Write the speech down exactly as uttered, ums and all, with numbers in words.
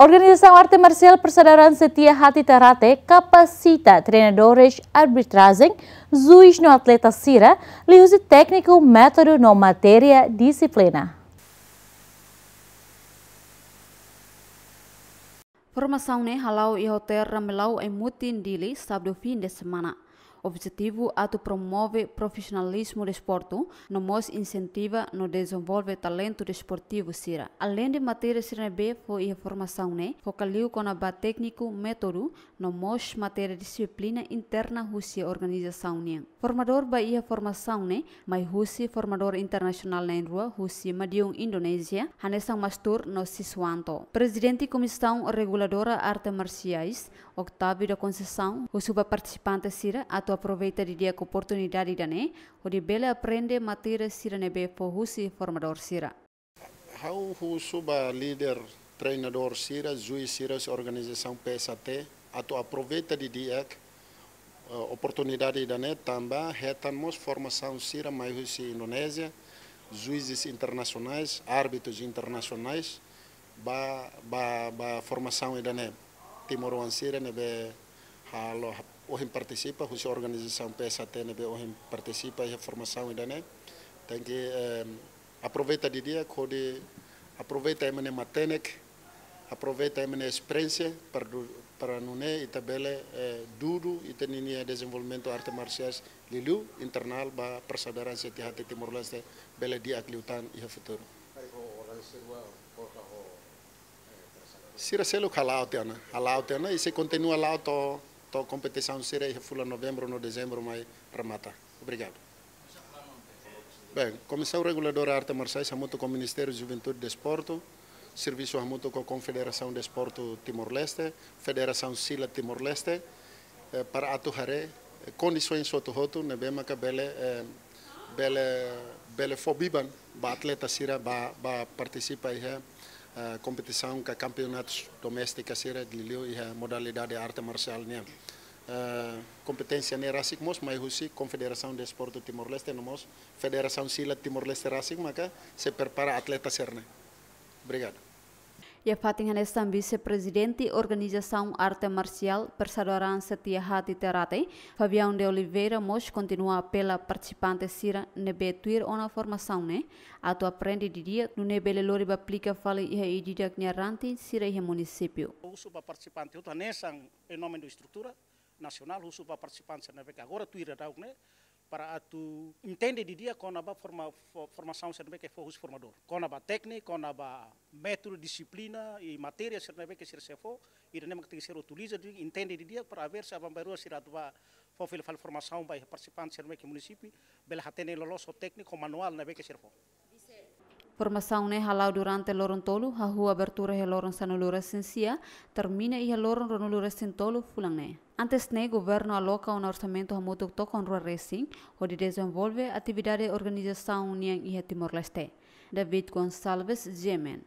Organizasaun Arte Marsiál Persaudaraan Setia Hati Ternate kapasita treinadores arbitrajen, juís no atleta sira, liuhusi tékniku, métodu no matéria dixiplina. Formasaun ne'e hala'o iha Hotel Ramelau, Aimutin, Dili, sábadu fim de semana. Objetivu atu promove profisionalizmu desportu, no mós insentiva no dezenvolve talentu desportivu sira. Aleinde matéria sira ne'ebé fó iha formasaun ne'e, foka liu kona-ba tékniku, métodu, no mós matéria dixiplina interna husi organizasaun nian. Formadór ba iha formasaun ne'e mai husi formadór internasionál na'in-rua husi Madiun, Indonézia, hanesan Mastur no Siswanto. Prezidente Komisaun Reguladora Arte Marsiais, Octávio da Conceição, husu ba partisipante sira atu aproveita didi'ak oportunidade ida-ne'e, hodi bele aprende matéria sira ne'ebé fó husi formadór sira. Ha'u husu ba líder, treinadór sira, juís sira, husi organizasaun P S A T, atu aproveita didi'ak, eh, oportunidade ida-ne'e tanba hetan mós formasaun sira mai husi Indonézia, juízes internacionais, árbitros internacionais, ba, ba, ba formasaun ida-ne'e. Timoroan sira ne'ebé halo ohin partisipa, husi organizasaun P S A T ne'ebé ohin partisipa iha formasaun ida-ne'e. Tenke, eh, aproveita didi'ak, hodi aproveita ema nia matenek, aproveita ema nia esperiénsia, para du-, para nune'e ita bele, eh, dudu ita-nia dezenvolvimentu arte marsiais liuliu internal ba Persaudaraan Setia Hati Timor-Leste bele di'ak liután iha futuru. Sira seluk hala'o tiha ona, hala'o tiha ona, i sei kontinua la'o to'o, to'o kompetisaun sira iha fulan Novembru no Dezembru mai remata. Obrigadu. Bem, Komisaun Reguladora Arte Marsiais hamutuk ho Ministériu Juventude e Desportu, servisu hamutuk ho Konfederasaun Desportu Timor-Leste, Federasaun Sila Timor-Leste, eh, para atu haree, eh, kondisoens hotu-hotu ne'ebé maka bele, eh, bele, bele fó biban ba atleta sira ba, ba partisipa iha, eh, kompetisaun ka kampeonatu doméstika sira liuliu iha modalidade arte marsiál nian. Eh, kompeténsia ne'e rasik mós mai husi Konfederasaun Desportu Timor-Leste no mós Federasaun Sila Timor-Leste rasik maka sei prepara atleta sira-ne'e. Obrigadu. Iha fatin hanesan, Vise-Prezidente Organizasaun Arte Marsiál Persaudaraan Setia Hati Ternate, Fabião de Oliveira, mós kontinua apela partisipante sira ne'ebé tuir ona formasaun ne'e atu aprende didi'ak, nune'e bele lori ba aplika fali iha ida-idak nia ranting sira iha munisípiu. Husu ba partisipante hotu hanesan em nome do estrutura nasionál, husu ba partisipante sira ne'ebé ke agora tuir daudaun ne'e, para atu entende didi'ak kona-ba forma-, fo-, formasaun sira ne'ebé ke fó husi formadór. Kona-ba tékniku, kona-ba métodu, dixiplina i matéria sira ne'ebé ke sira sei fó, ida-ne'e mak tenke sira utiliza, di-, entende didi'ak para aver se aban-bainrua sira atu ba fó fila fali formasaun ba iha partisipante sira ne'ebé ke munisípiu, bele hatene loloos ho tékniku, manuál ne'ebé ke sira fó. Formasaun ne'e hala'o durante loron tolu, hahú abertura iha loron sanulu-resin-sia, termina iha loron ruanulu-resin-tolu fulan ne'e. Antes ne'e, governu aloka ona orsamentu hamutuk tokon rua resin, hodi dezenvolve atividade organizasaun nian iha Timor-Leste. David Gonçalves, G M N.